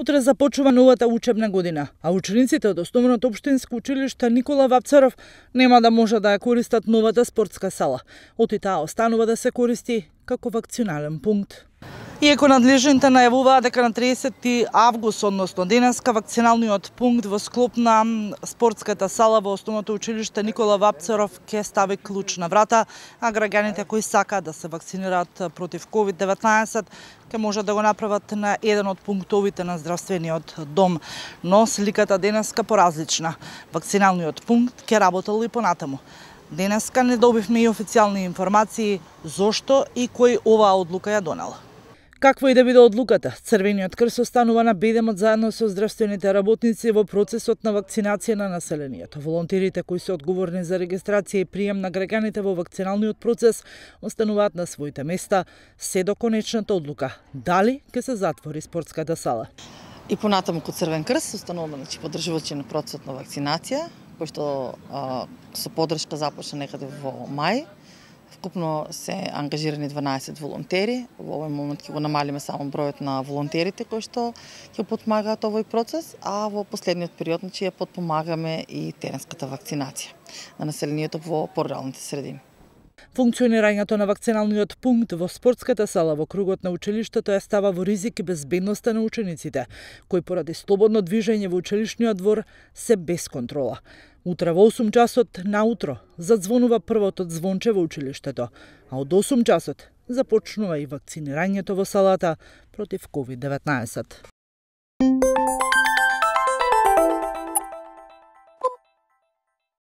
Утре започува новата учебна година, а учениците од Основното општинско училиште Никола Вапцаров нема да може да ја користат новата спортска сала. Оти таа останува да се користи како вакцинален пункт. Иако надлежните најавуваат дека на 30 август, односно денеска, вакциналниот пункт во склоп на спортската сала во Основното училиште Никола Вапцаров ќе стави клуч на врата, а граѓаните кои сакаат да се вакцинираат против COVID-19 ќе можат да го направат на еден од пунктовите на здравствениот дом. Но сликата денеска поразлична. Вакциналниот пункт ќе работел и понатаму. Денеска не добивме и официјални информации зошто и кој оваа одлука ја донел. Каква и да биде одлуката, Црвениот крст останува на бедемот заедно со здравствените работници во процесот на вакцинација на населението. Волонтерите кои се одговорни за регистрација и прием на граѓаните во вакциналниот процес остануваат на своите места се до конечната одлука дали ќе се затвори спортската сала. И понатаму кod Црвен крст остануваме поддржувачи на процесот на вакцинација, кој што со поддршка започна некаде во мај. Вкупно се ангажирани 12 волонтери. Во овој момент ќе го намалиме само бројот на волонтерите кои што ќе подпомагаат овој процес, а во последниот период ја подпомагаме и теренската вакцинација на населението во поруралните средини. Функционирањето на вакциналниот пункт во спортската сала во кругот на училиштето ја става во ризик и безбедноста на учениците, кои поради слободно движење во училишниот двор се без контрола. Утре во 8 часот наутро задзвонува првото звонче во училиштето, а од 8 часот започнува и вакцинирањето во салата против COVID-19.